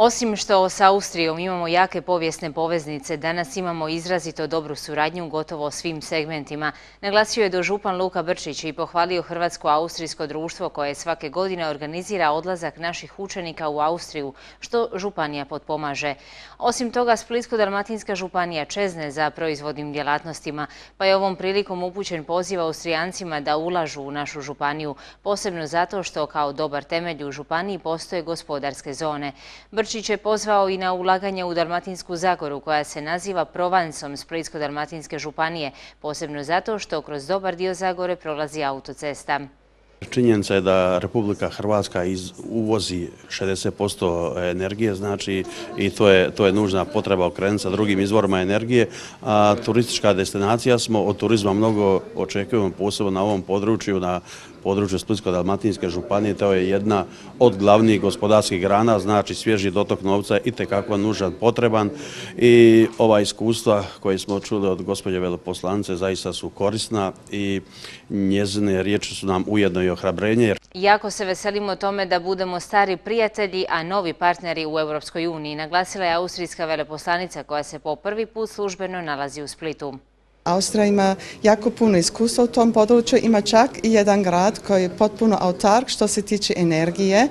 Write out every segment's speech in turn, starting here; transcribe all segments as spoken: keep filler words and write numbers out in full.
Osim što s Austrijom imamo jake povijesne poveznice, danas imamo izrazito dobru suradnju u gotovo svim segmentima. Naglasio je dožupan Luka Brčić i pohvalio Hrvatsko-austrijsko društvo koje svake godine organizira odlazak naših učenika u Austriju, što županija potpomaže. Osim toga, Splitsko-dalmatinska županija čezne za proizvodnim djelatnostima, pa je ovom prilikom upućen poziv Austrijancima da ulažu u našu županiju, posebno zato što kao dobar temelj u županiji postoje gospodarske zone. Brčić je pozvao i na ulaganje u Dalmatinsku Zagoru, koja se naziva Provansom Splitsko-dalmatinske županije, posebno zato što kroz dobar dio Zagore prolazi autocesta. Činjenica je da Republika Hrvatska uvozi šezdeset posto energije, znači i to je, to je nužna potreba okrenuti sa drugim izvorima energije, a turistička destinacija smo, od turizma mnogo očekujemo, posebno na ovom području, na području Splitsko-dalmatinske županije. To je jedna od glavnih gospodarskih grana, znači svježi dotok novca je itekako nužan, potreban i ova iskustva koje smo čuli od gospođe veleposlanice zaista su korisna i njezine riječi su nam ujedno i ohrabrenje. Jako se veselimo tome da budemo stari prijatelji, a novi partneri u Europskoj uniji, naglasila je austrijska veleposlanica koja se po prvi put službeno nalazi u Splitu. Austrija ima jako puno iskustva u tom području, ima čak i jedan grad koji je potpuno autark što se tiče energije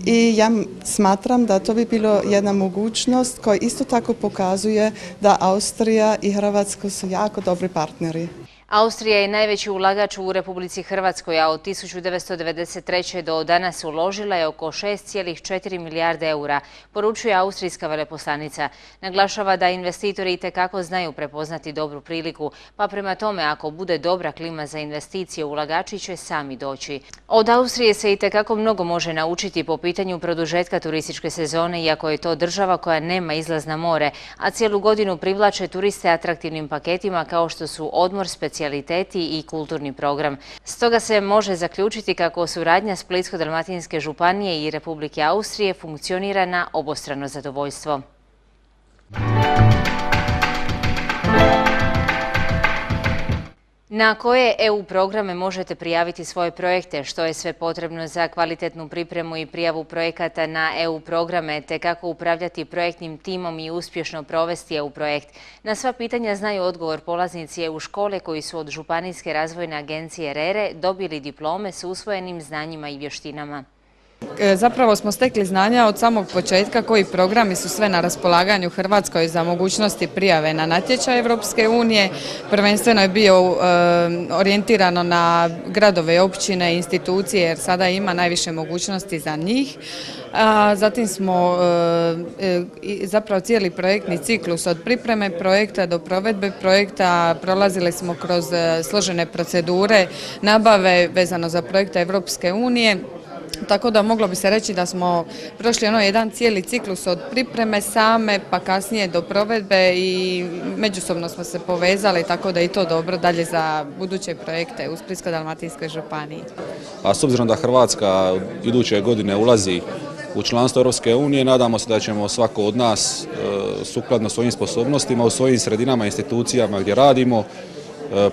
i ja smatram da to bi bilo jedna mogućnost koja isto tako pokazuje da Austrija i Hrvatska su jako dobri partneri. Austrija je najveći ulagač u Republici Hrvatskoj, a od tisuću devetsto devedeset treće do danas uložila je oko šest zarez četiri milijarde eura, poručuje austrijska veleposlanica. Naglašava da investitori itekako znaju prepoznati dobru priliku, pa prema tome ako bude dobra klima za investicije, ulagači će sami doći. Od Austrije se itekako mnogo može naučiti po pitanju produžetka turističke sezone, iako je to država koja nema izlaz na more, a cijelu godinu privlače turiste atraktivnim paketima kao što su odmor, specijalizacija i kulturni program. Stoga se može zaključiti kako suradnja Splitsko-dalmatinske županije i Republike Austrije funkcionira na obostrano zadovoljstvo. Na koje E U programe možete prijaviti svoje projekte, što je sve potrebno za kvalitetnu pripremu i prijavu projekata na E U programe, te kako upravljati projektnim timom i uspješno provesti E U projekt. Na sva pitanja znaju odgovor polaznici E U škole koji su od Županijske razvojne agencije R E R E dobili diplome s usvojenim znanjima i vještinama. Zapravo smo stekli znanja od samog početka koji programi su sve na raspolaganju Hrvatskoj za mogućnosti prijave na natječaj Europske unije. Prvenstveno je bio orijentirano na gradove i općine, institucije jer sada ima najviše mogućnosti za njih. Zatim smo zapravo cijeli projektni ciklus od pripreme projekta do provedbe projekta prolazili smo kroz složene procedure nabave vezano za projekte Europske unije. Tako da moglo bi se reći da smo prošli ono jedan cijeli ciklus od pripreme same pa kasnije do provedbe i međusobno smo se povezali, tako da je i to dobro dalje za buduće projekte u Splitsko-dalmatinskoj županiji. A s obzirom da Hrvatska iduće godine ulazi u članstvo Europske unije, nadamo se da ćemo svako od nas sukladno svojim sposobnostima u svojim sredinama i institucijama gdje radimo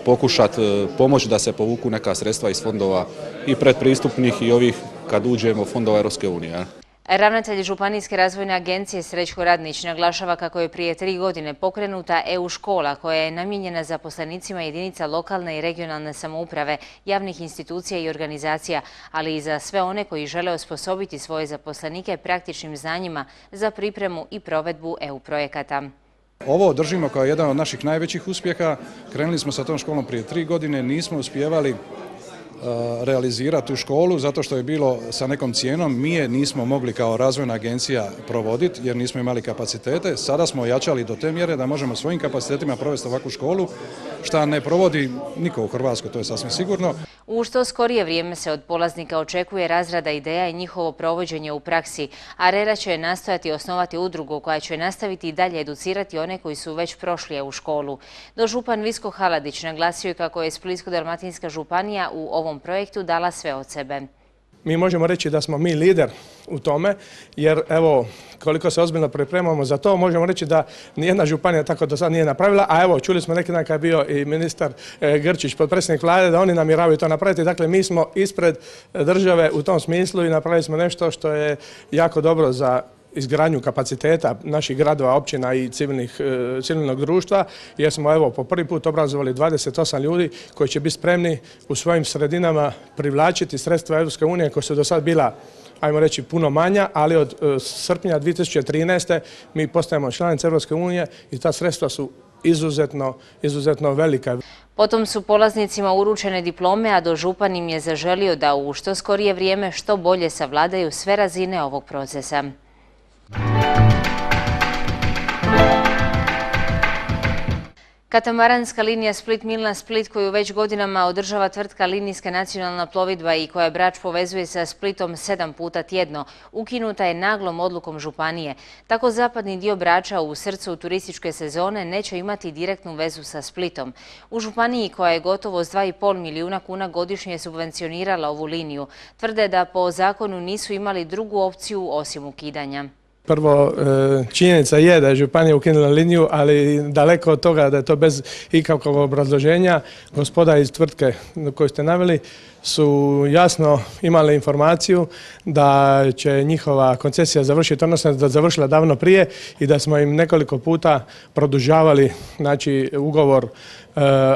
pokušati pomoći da se povuku neka sredstva iz fondova i predpristupnih i ovih kad uđemo fondova Europske unije. Ravnatelj Županijske razvojne agencije Srećko Radnić naglašava kako je prije tri godine pokrenuta E U škola koja je namijenjena zaposlenicima jedinica lokalne i regionalne samouprave, javnih institucija i organizacija, ali i za sve one koji žele osposobiti svoje zaposlenike praktičnim znanjima za pripremu i provedbu E U projekata. Ovo držimo kao jedan od naših najvećih uspjeha. Krenuli smo sa tom školom prije tri godine, nismo uspijevali realizirati tu školu zato što je bilo sa nekom cijenom. Mi je nismo mogli kao razvojna agencija provoditi jer nismo imali kapacitete. Sada smo ojačali do te mjere da možemo svojim kapacitetima provesti ovakvu školu, što ne provodi niko u Hrvatskoj, to je sasvim sigurno. U što skorije vrijeme se od polaznika očekuje razrada ideja i njihovo provođenje u praksi, a R E R A će nastojati osnovati udrugu koja će nastaviti i dalje educirati one koji su već prošli E U školu. Dožupan Visko Haladić naglasio je kako je Splitsko-dalmatinska županija u ovom projektu dala sve od sebe. Mi možemo reći da smo mi lider u tome, jer evo, koliko se ozbiljno pripremamo za to, možemo reći da nijedna županija tako do sad nije napravila, a evo, čuli smo neki dan kad je bio i ministar Grčić, potpredsjednik vlade, da oni namjeravaju to napraviti. Dakle, mi smo ispred države u tom smislu i napravili smo nešto što je jako dobro za izgradnju kapaciteta naših gradova, općina i civilnih, civilnog društva, jer smo evo po prvi put obrazovali dvadeset osam ljudi koji će biti spremni u svojim sredinama privlačiti sredstva Europske unije koja su do sad bila, ajmo reći, puno manja, ali od srpnja dvije tisuće trinaeste. mi postajemo članica Europske unije i ta sredstva su izuzetno, izuzetno velika. Potom su polaznicima uručene diplome, a dožupan im je zaželio da u što skorije vrijeme što bolje savladaju sve razine ovog procesa. Katamaranska linija Split-Milna-Split, koju već godinama održava tvrtka Linijska nacionalna plovidba i koja Brač povezuje sa Splitom sedam puta tjedno, ukinuta je naglom odlukom županije. Tako zapadni dio Brača u srcu turističke sezone neće imati direktnu vezu sa Splitom. U županiji, koja je gotovo s dva i pol milijuna kuna godišnje subvencionirala ovu liniju, tvrde da po zakonu nisu imali drugu opciju osim ukidanja. Prvo, činjenica je da je županija ukinula liniju, ali daleko od toga da je to bez ikakvog obrazloženja. Gospoda iz tvrtke koju ste naveli su jasno imali informaciju da će njihova koncesija završiti, odnosno da je završila davno prije i da smo im nekoliko puta produžavali, znači, ugovor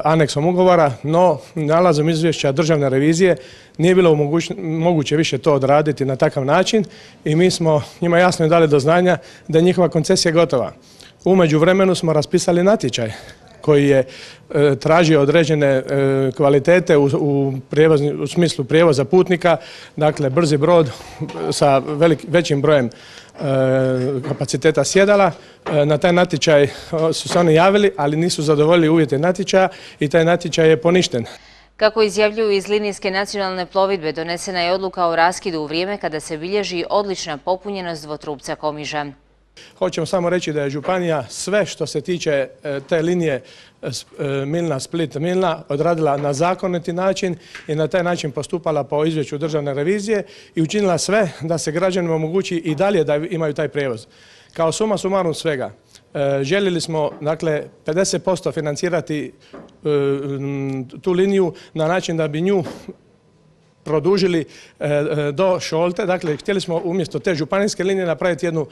aneksom ugovora, no nalazom izvješća državne revizije nije bilo moguće više to odraditi na takav način i mi smo njima jasno dali do znanja da je njihova koncesija gotova. U međuvremenu smo raspisali natječaj koji je e, tražio određene e, kvalitete u, u, prijevozni, u smislu prijevoza putnika, dakle brzi brod sa velik, većim brojem e, kapaciteta sjedala. E, na taj natječaj su se oni javili, ali nisu zadovoljili uvjete natječaja i taj natječaj je poništen. Kako izjavljuju iz Linijske nacionalne plovidbe, donesena je odluka o raskidu u vrijeme kada se bilježi odlična popunjenost dvotrupca Komiža. Hoćemo samo reći da je županija sve što se tiče te linije Milna-Split-Milna odradila na zakoniti način i na taj način postupala po izvješću državne revizije i učinila sve da se građanima omogući i dalje da imaju taj prijevoz. Kao suma sumarum svega, željeli smo, dakle, pedeset posto financirati tu liniju na način da bi nju produžili do Šolte. Dakle, htjeli smo umjesto te županijske linije napraviti jednu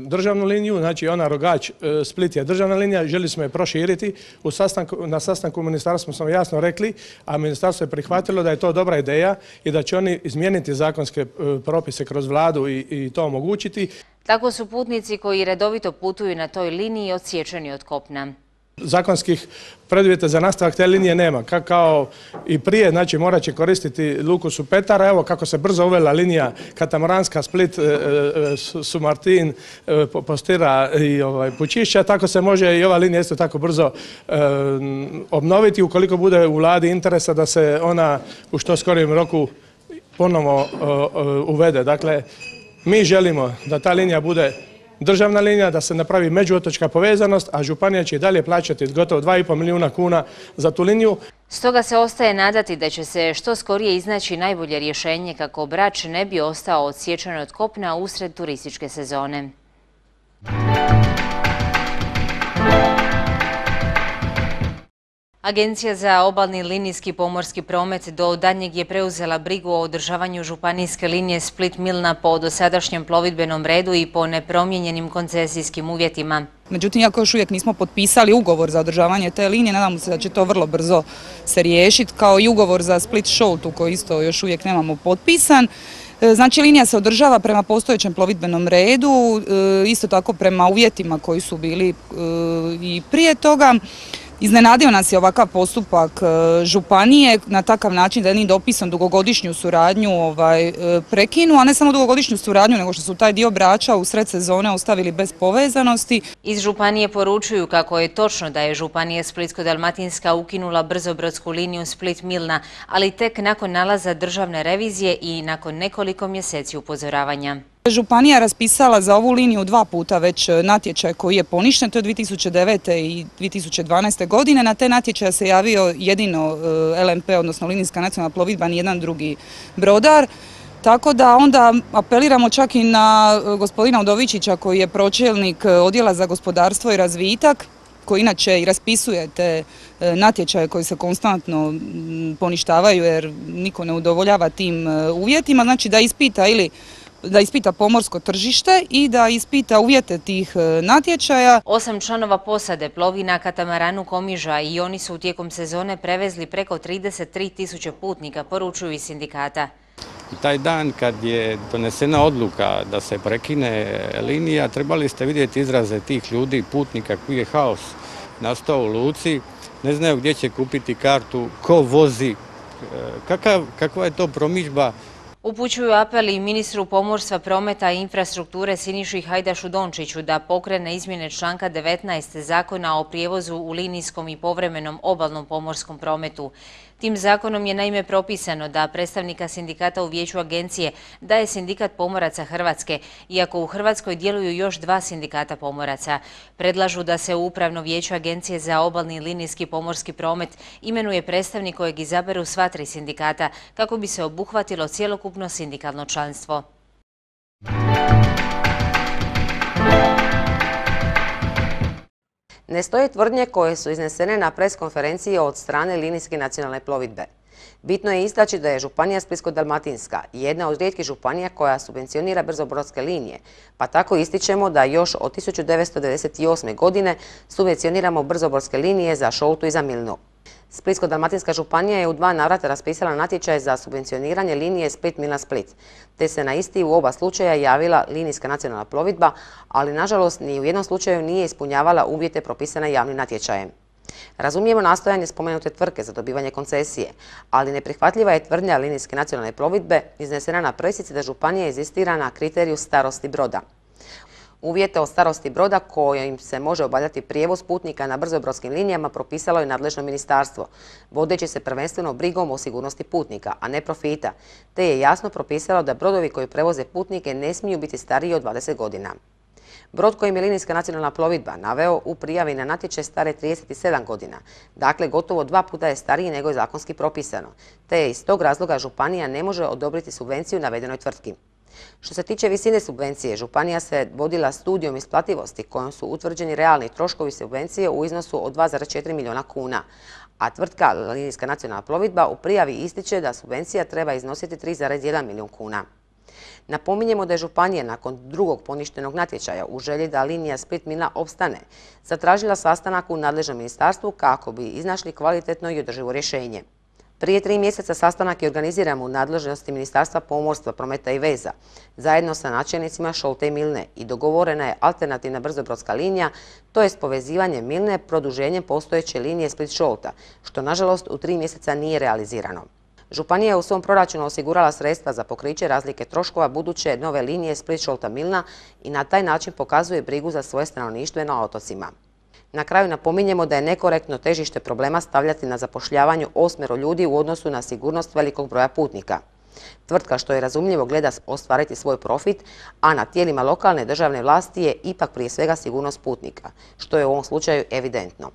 državnu liniju, znači ona Rogač Split je državna linija, željeli smo je proširiti. U sastanku, na sastanku u ministarstvu smo jasno rekli, a ministarstvo je prihvatilo da je to dobra ideja i da će oni izmijeniti zakonske propise kroz vladu i, i to omogućiti. Tako su putnici koji redovito putuju na toj liniji odsječeni od kopna. Zakonskih preduvjeta za nastavak te linije nema. Ka, kao i prije, znači morat će koristiti luku Supetara. Evo kako se brzo uvela linija katamaranska Split, e, e, Sumartin, e, Postira i ovaj, Pučišća, tako se može i ova linija isto tako brzo e, obnoviti ukoliko bude u vladi interesa da se ona u što skorijem roku ponovo e, e, uvede. Dakle, mi želimo da ta linija bude državna linija, da se napravi međuotočka povezanost, a županija će i dalje plaćati gotovo dva i pol milijuna kuna za tu liniju. Stoga se ostaje nadati da će se što skorije iznaći najbolje rješenje kako Brač ne bi ostao odsječen od kopna usred turističke sezone. Agencija za obalni linijski pomorski promet do daljnjeg je preuzela brigu o održavanju županijske linije Split-Milna po dosadašnjem plovidbenom redu i po nepromijenjenim koncesijskim uvjetima. Međutim, iako još uvijek nismo potpisali ugovor za održavanje te linije, nadamo se da će to vrlo brzo se riješiti, kao i ugovor za Split-Šoltu koji isto još uvijek nemamo potpisan. Znači, linija se održava prema postojećem plovidbenom redu, isto tako prema uvjetima koji su bili i prije toga. Iznenadio nas je ovakav postupak županije na takav način da je jednim dopisom dugogodišnju suradnju ovaj, prekinu, a ne samo dugogodišnju suradnju, nego što su taj dio Brača u sred sezone ostavili bez povezanosti. Iz županije poručuju kako je točno da je županija Splitsko-dalmatinska ukinula brzobrodsku liniju Split-Milna, ali tek nakon nalaza državne revizije i nakon nekoliko mjeseci upozoravanja. Županija je raspisala za ovu liniju dva puta već natječaj koji je poništen, to je dvije tisuće devete i dvije tisuće dvanaeste. godine. Na te natječaje se javio jedino L N P, odnosno Linijska nacionalna plovidba, ni jedan drugi brodar. Tako da onda apeliramo čak i na gospodina Udovičića koji je pročelnik odjela za gospodarstvo i razvitak, koji inače i raspisuje te natječaje koji se konstantno poništavaju jer niko ne udovoljava tim uvjetima. Znači da ispita ili da ispita pomorsko tržište i da ispita uvjete tih natječaja. Osam članova posade plovi na katamaranu Komiža i oni su tijekom sezone prevezli preko trideset tri tisuće putnika, poručuju iz sindikata. Taj dan kad je donesena odluka da se prekine linija, trebali ste vidjeti izraze tih ljudi, putnika, koji je haos nastao u luci, ne znaju gdje će kupiti kartu, ko vozi, kakav, kakva je to promidžba. Upućuju apel i ministru pomorstva, prometa i infrastrukture Siniši Hajdašu Dončiću da pokrene izmjene članka devetnaest Zakona o prijevozu u linijskom i povremenom obalnom pomorskom prometu. Tim zakonom je naime propisano da predstavnika sindikata u vijeću agencije daje Sindikat pomoraca Hrvatske, iako u Hrvatskoj djeluju još dva sindikata pomoraca. Predlažu da se u upravno vijeće agencije za obalni i linijski pomorski promet imenuje predstavnik kojeg izaberu sva tri sindikata kako bi se obuhvatilo cjelokupno sindikalno članstvo. Ne stoje tvrdnje koje su iznesene na pres konferenciji od strane linijske nacionalne plovidbe. Bitno je istaći da je Županija Splitsko-dalmatinska jedna od rijetkih županija koja subvencionira brzobrodske linije, pa tako ističemo da još od tisuću devetsto devedeset osme. godine subvencioniramo brzobrodske linije za Šoltu i za Milnu. Splitsko-dalmatinska županija je u dva navrata raspisala natječaj za subvencioniranje linije Split-Milna-Split, te se na isti u oba slučaja javila linijska nacionalna plovidba, ali nažalost ni u jednom slučaju nije ispunjavala uvjete propisane javnim natječajem. Razumijemo nastojanje spomenute tvrtke za dobivanje koncesije, ali neprihvatljiva je tvrdnja linijske nacionalne plovidbe iznesena na pressici da županija inzistira na kriteriju starosti broda. Uvjete o starosti broda kojim se može obavljati prijevoz putnika na brzobrodskim linijama propisalo je nadležno ministarstvo, vodeći se prvenstveno brigom o sigurnosti putnika, a ne profita, te je jasno propisalo da brodovi koji prevoze putnike ne smiju biti stariji od dvadeset godina. Brod kojim je linijska nacionalna plovidba naveo u prijavi na natječaj stare trideset sedam godina, dakle gotovo dva puta je stariji nego je zakonski propisano, te je iz tog razloga županija ne može odobriti subvenciju navedenoj tvrtki. Što se tiče visine subvencije, županija se vodila studijom isplativosti kojom su utvrđeni realni troškovi subvencije u iznosu od dva zarez četiri milijuna kuna, a tvrtka linijska nacionalna plovidba u prijavi ističe da subvencija treba iznositi tri zarez jedan milijun kuna. Napominjemo da je županija nakon drugog poništenog natječaja u želji da linija Split-Milna opstane zatražila sastanak u nadležnom ministarstvu kako bi iznašli kvalitetno i održivo rješenje. Prije tri mjeseca sastanak je organiziran u nadležnosti Ministarstva pomorstva, prometa i veza, zajedno sa načelnicima Šolte i Milne i dogovorena je alternativna brzobrodska linija, to jest povezivanje Milne produženjem postojeće linije Split-Šolta, što nažalost u tri mjeseca nije realizirano. Županija je u svom proračunu osigurala sredstva za pokriće razlike troškova buduće nove linije Split-Šolta-Milna i na taj način pokazuje brigu za svoje stanovništvo na otocima. Na kraju napominjemo da je nekorektno težište problema stavljati na zapošljavanju osmero ljudi u odnosu na sigurnost velikog broja putnika. Tvrtka, što je razumljivo, gleda ostvariti svoj profit, a na tijelima lokalne državne vlasti je ipak prije svega sigurnost putnika, što je u ovom slučaju evidentno.